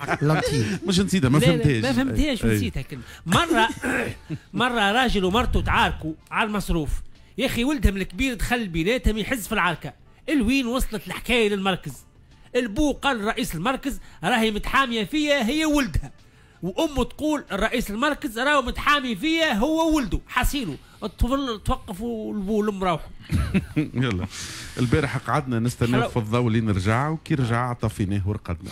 lentille. مش نسيتها، ما لا، لا، فهمتهاش. ما فهمتهاش ونسيتها كلمة. مرة راجل ومرته تعاركوا على المصروف، يا أخي ولدهم الكبير دخل بيناتهم يحز في العركة، الوين وصلت الحكاية للمركز. البو قال رئيس المركز راهي متحامية فيا هي ولدها، وأمه تقول الرئيس المركز راهو متحامي فيا هو ولده. حسينه الطفل توقفوا البو والأم راحوا. يلا البارح قعدنا نستناو حلو. في الضوء لين رجع، وكي رجع طفيناه ورقدنا.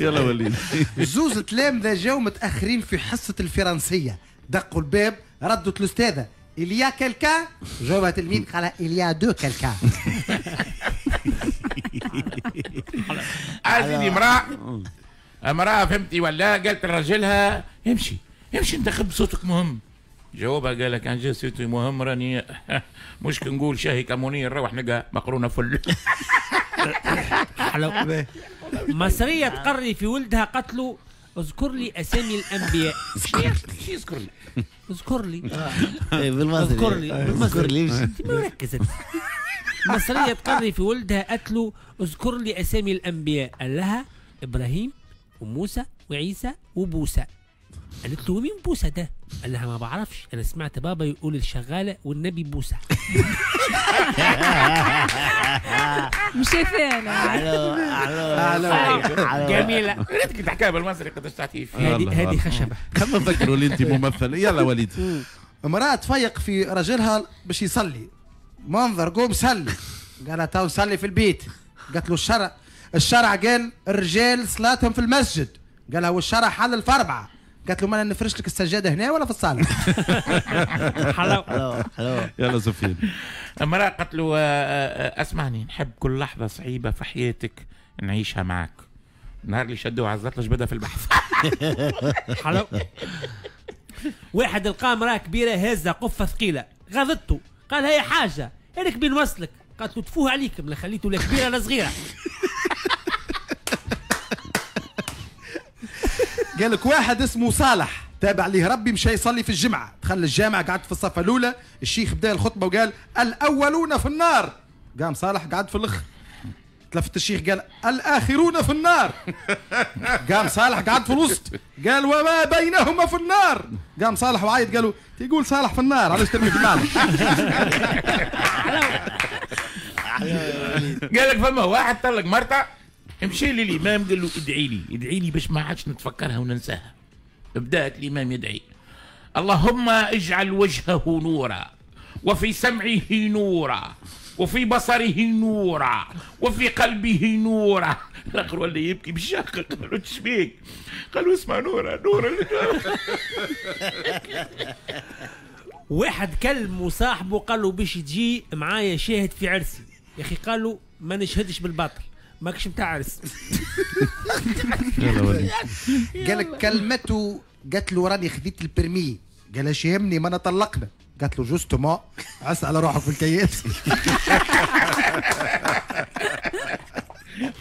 يلا وليد. زوز تلامذة جاو متأخرين في حصة الفرنسية، دقوا الباب، ردت الأستاذة Il y a quelqu'un؟ جاوبها تلميذ قال Il y a deux quelqu'un. عايزين امرأة فهمتي ولا؟ قالت لراجلها امشي امشي انتخب صوتك مهم. جاوبها قال لك كان جا صوتي مهم راني مش كنقول شاهي كمونية نروح نلقى مقرونة فل. حلو. مصرية تقري في ولدها قتلوا اذكر لي اسامي الانبياء. شو يذكر لي؟ اذكر لي. بالمصري. اذكر لي. اذكر لي. انت ما ركزت. مصرية تقري في ولدها قتلوا اذكر لي اسامي الانبياء، قال لها ابراهيم وموسى وعيسى وبوسى. قالت له مين بوسى ده؟ قال لها ما بعرفش، انا سمعت بابا يقول الشغاله والنبي بوسى. مش شايفانا. الو الو الو. جميلة. ريتك تحكيها بالمصري قداش تعطيه فيه. هذه خشبه. خلينا نذكروا اللي انت ممثل. يلا وليد. امرأة تفيق في رجلها باش يصلي، منظر قوم صلي، قالها تو صلي في البيت. قالت له الشرع قال الرجال صلاتهم في المسجد، قالها والشرع حلل في 4. قالت له ما انا نفرش لك السجادة هنا ولا في الصاله. حلو. حلو حلو. يلا سفيان. امرأة قالت له اسمعني، نحب كل لحظة صعيبة في حياتك نعيشها معك. النهار اللي شدوه على الزلطه جبدها في البحث. حلو. واحد لقى امرأة كبيرة هازة قفة ثقيلة، غضته، قال هي حاجة هذاك بين وصلك. قالت له تفوه عليكم، لا خليته لا كبيرة لا صغيرة. قال لك واحد اسمه صالح تابع ليه ربي، مشى يصلي في الجمعة، دخل الجامع قعد في الصفة الأولى، الشيخ بدا الخطبة وقال الأولون في النار، قام صالح قعد في الأخر. تلفت الشيخ قال الآخرون في النار، قام صالح قعد في الوسط، قال وما بينهما في النار، قام صالح وعيط قالوا تقول صالح في النار علاش ترمي في النار؟ قال لك فما واحد طلق مرته، مشي لي الامام قال له ادعي لي ادعي لي باش ما عادش نتفكرها وننساها. بدات الامام يدعي اللهم اجعل وجهه نورا وفي سمعه نورا وفي بصره نورا وفي قلبه نورا. الاخر ولا يبكي بالشقه، قالوا تشبيك؟ قالوا اسمع نورا نورا. واحد كلم صاحبه قال له باش تجي معايا شاهد في عرسي، يا اخي قال له ما نشهدش بالباطل، ماكش متاع عرس. يلا وليد. قال لك كلمته قالت له راني خذيت ال permis، قال اش يهمني ما انا طلقنا. قالت له justement عس على روحك في الكياس.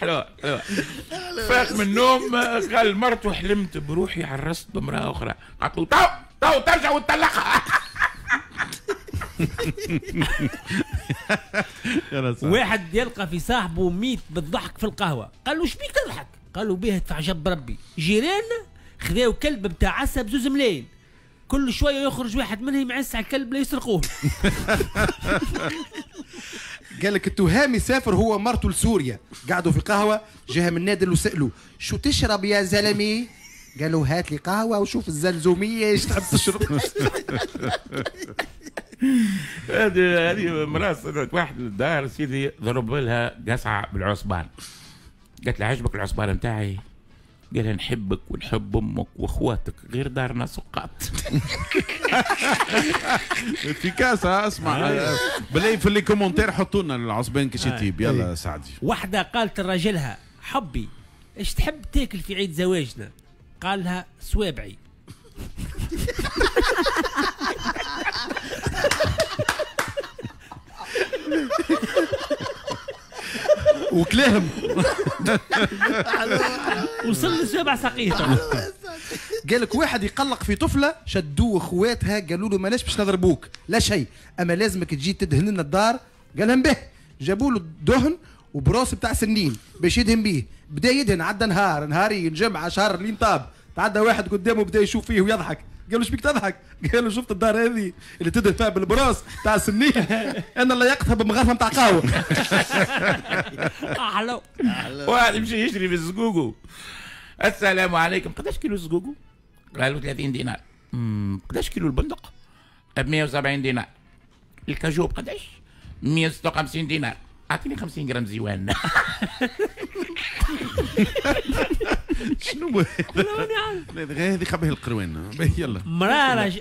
حلو حلو. فاق من النوم قال مرته حلمت بروحي عرست بامرأة أخرى. قالت له تو تو ترجع وتطلقها. واحد يلقى في صاحبه ميت بالضحك في القهوة، قال له شبيك تضحك؟ قال له بيه ادفع جنب ربي، جيراننا خذاو كلب بتاع عسى بزوز ملايين، كل شوية يخرج واحد منهم يعس على الكلب لا يسرقوه. قال لك التهامي سافر هو مرته لسوريا، قعدوا في قهوة، جاها من نادل وسألوا شو تشرب يا زلمي؟ قالوا هات لي قهوة وشوف الزلزومية ايش تحب تشرب. هذه امرأة صدقت واحد للدار سيدي ضرب لها قصعة بالعصبان، قالت له عجبك العصبان نتاعي؟ قال لها نحبك ونحب امك واخواتك غير دارنا سقاط. في كاسة. اسمع بالله في les commentaires حطوا لنا العصبان كيش يطيب. يلا سعدي. واحدة قالت لراجلها حبي ايش تحب تاكل في عيد زواجنا؟ قال لها سوابعي. وكلاهم وصل لسبع سقيطة. قال لك واحد يقلق في طفله، شدوه اخواتها قالوا له ماناش باش نضربوك لا شيء، اما لازمك تجي تدهن لنا الدار. قال لهم به، جابوا له دهن وبروس بتاع سنين باش يدهن بيه، بدا يدهن، عدى نهار نهارين جمعه شهر لين طاب. تعدى واحد قدامه بدا يشوف فيه ويضحك، قال له شبيك تضحك؟ قال له شفت الدار هذه اللي تدهن فيها بال brosse تاع السنين، انا اللي يقتها بمغرفه نتاع قهوة. حلو. واحد يمشي يشري في الزقوقو. السلام عليكم، قداش كيلو الزقوقو؟ قالوا 30 دينار. قداش كيلو البندق؟ ب 170 دينار. ال cajou بقداش؟ 156 دينار. اعطيني 50 جرام زيوان. شنو هذه؟ خبيه القروان. يلا.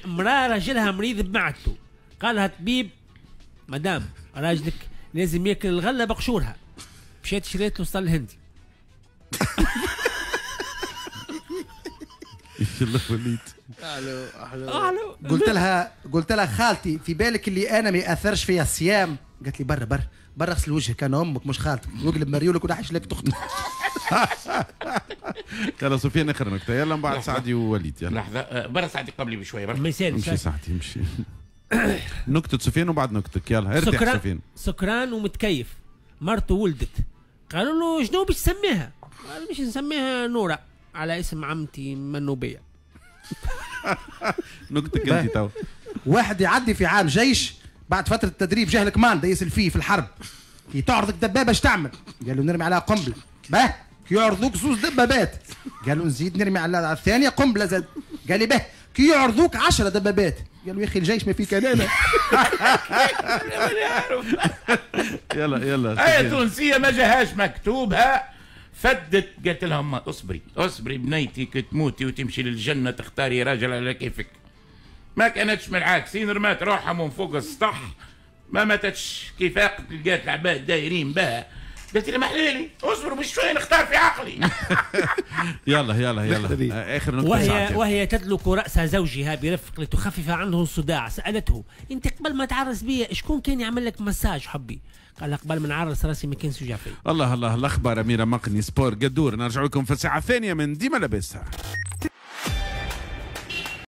مرا راجلها مريض بمعدته، قالها طبيب مدام راجلك لازم ياكل الغلة بقشورها. مشات شريت له سطل هندي. يلا وليد. الو الو. قلت لها خالتي في بالك اللي انا ما ياثرش فيا الصيام؟ قالت لي برا برا برا اغسل وجهك، انا امك مش خالتك، واقلب مريولك ونحش لك تخت. يلا سفيان اخر نكتة، يلا من بعد سعدي ووليد. يلا لحظة، برا سعدي قبلي بشوية. ما يسالش امشي سعدي امشي. نكتة سفيان وبعد نكتك. يلا ارتاح سفيان. سكران ومتكيف، مرته ولدت، قالوا له شنو باش تسميها؟ قال باش نسميها نوره على اسم عمتي منوبيه. نكتك انت تو. واحد يعدي في عام جيش، بعد فترة التدريب جاه ال commandant يسأل فيه في الحرب، كي تعرضك دبابة اش تعمل؟ قال له نرمي عليها قنبلة. باه كي يعرضوك زوز دبابات، قال له نزيد نرمي على الثانية قنبلة زاد. قال لي باه كي يعرضوك 10 دبابات، قال له يا اخي الجيش ما فيه كلامه. يلا يلا. آية تونسية ما جاهاش مكتوبها، فدت قالت لهم اصبري اصبري بنيتي كي تموتي وتمشي للجنة تختاري راجل على كيفك. ما كانتش من العاكسين، رمات روحها من فوق السطح ما ماتتش. كي فاقت لقات العباد دايرين بها، قالت لي محليلي اصبروا بشوية نختار في عقلي. يلا يلا يلا اخر نقطة. وهي تدلك راس زوجها برفق لتخفف عنه الصداع، سالته انت قبل ما تعرس بيا شكون كان يعمل لك مساج حبي؟ قال قبل ما نعرس راسي ما كانش يوجع فيا. الله الله. الاخبار اميره مقني sport قدور. نرجع لكم في الساعة الثانية من ديما لاباس.